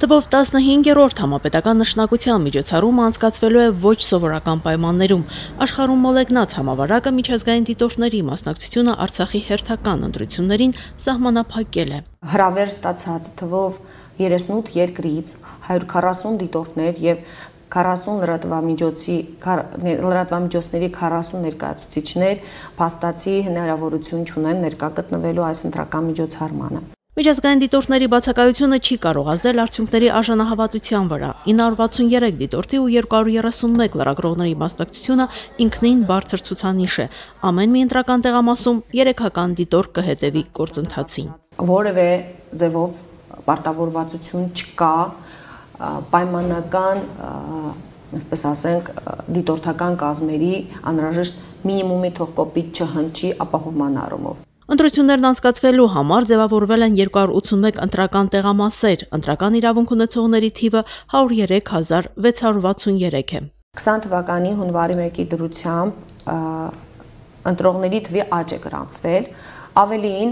Թվով 15-րդ համապետական նշանակության միջոցառումը անցկացվելու է ոչ սովորական պայմաններում։ Աշխարհում մոլեգնած համավարակը միջազգային դիտորդների մասնակցությունը Արցախի հերթական ընտրություններին սահմանափակել է։ Հրավեր ստացած թվով 38 երկրից 140 դիտորդներ եւ 40 լրատվամիջոցների 40 ներկայացուցիչներ փաստացի հնարավորություն չունեն ներկա գտնվելու այս ընտրական միջոցառմանը։ Միջազգային դիտորդների բացակայությունը չի կարող ազդել արդյունքների արժանահավատության վրա։ 963 դիտորդի ու 231 լրագրողների մասնակցությունը ինքնին բարձր ցուցանիշ է։ Ամեն մի ընտրական տեղամասում 3-ական դիտորդ կհետևի գործընթացին։ Որևէ ձևով պարտավորվածություն չկա պայմանական, այսպես ասենք, դիտորդական կազմերի անհրաժեշտ մինիմումի թողկոպիտ չհնչի ապահովման առումով։ Ընտրություններն անցկացվելու համար ձևավորվել են 281 ընտրական տեղամասեր, ընտրական իրավունք ունեցողների թիվը 103,663 է։ 20 թվականի հունվարի 1-ի դրությամբ ընտրողների թվի աճ է գրանցվել, ավելին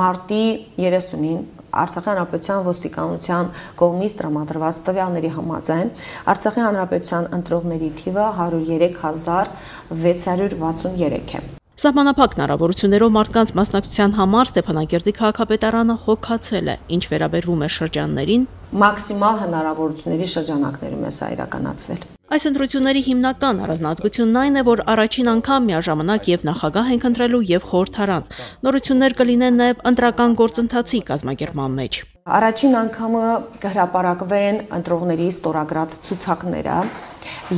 մարտի 30-ին Արցախի Հանրապետության ոստիկանության կողմից տրամադրված տվյալների համաձայն Արցախի Հանրապետության ընտրողների թիվը 103,663 է։ Սահմանափակ հնարավորություններով մարդկանց մասնակցության համար Ստեփանագերդի քաղաքապետարանը հոգացել է, ինչ վերաբերվում է շրջաններին, մաքսիմալ հնարավորությունների շրջանակներում է սա իրականացվել։ Այս ընտրությունների հիմնական առանձնահատկությունն այն է, որ առաջին անգամ միաժամանակ եւ նախագահ ենք ընտրելու եւ խորհրդարան։ Նորություններ կլինեն նաեւ ընտրական գործընթացի կազմակերպման մեջ։ Առաջին անգամը կհրապարակվեն ընտրողների ստորագրած ցուցակները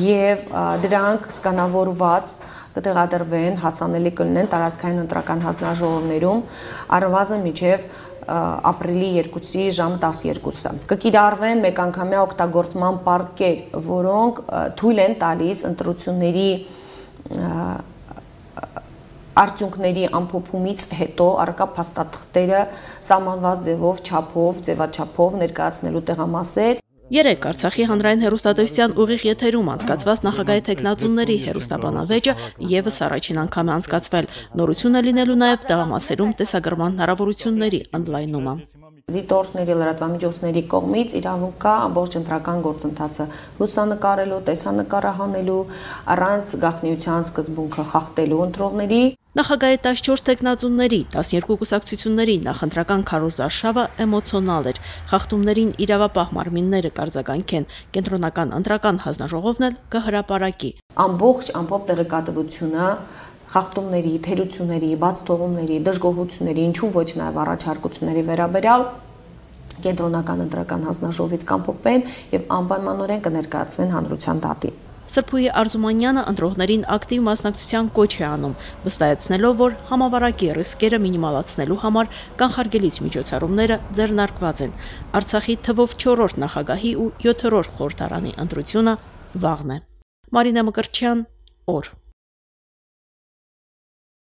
եւ դրանք սկանավորված կտեղադրվեն, հասանելի կլինեն տարածքային ընտրական հանձնաժողովներում առնվազն մինչև ապրիլի 2-ի ժամը 12-ը։ Կկիրառվեն մեկանգամյա օգտագործման պարկեր, որոնք թույլ են տալիս ընտրությունների արդյունքների ամփոփումից հետո առկա փաստաթղթերը սահմանված ձևաչափով ներկայացնելու տեղամասեր։ 3 Արցախի հանրային հեռուստատեսության ուղիղ եթերում անցկացված նախագահի թեկնածուների հեռուստաբանավեճը եւս առաջին անգամ է անցկացվել։ Նորություն է լինելու նաեւ տեղամասերում տեսագրման հնարավորությունների ընդլայնումը։ Դիտորդների լրատվամիջոցների կողմից իրավունք կա ամբողջ ընտրական գործընթացը լուսանկարելու, տեսանկարահանելու, առանց գաղտնիության սկզբունքը խախտելու ընտրողների։ Նախագահի 14 թեկնածուների, 12 կուսակցությունների նախընտրական քարոզարշավը էմոցիոնալ էր։ Խախտումներին իրավապահ մարմինները կարձագանքեն, կենտրոնական ընտրական հանձնաժողովն էլ կհրապարակի։ Ամբողջ տեղեկատվությունը խախտումների, թերությունների, բաց թողումների, դժգոհությունների, ինչու ոչ նաև առաջարկությունների վերաբերյալ կենտրոնական ընտրական հանձնաժողովից կամփոփվեն եւ անպայմանորեն կներկայացվեն հանրության դատին։ Սրփուհի Արզումանյանը ընտրողներին ակտիվ մասնակցության կոչ է անում, վստահեցնելով, որ համավարակի ռիսկերը մինիմալացնելու համար կանխարգելիչ միջոցառումները ձեռնարկված են։ Արցախի թվով 4-րդ նախագահի ու 7-րդ խորհրդարանի ընտրությունը վաղն է։ Մարինա Մկրտչյան, օր։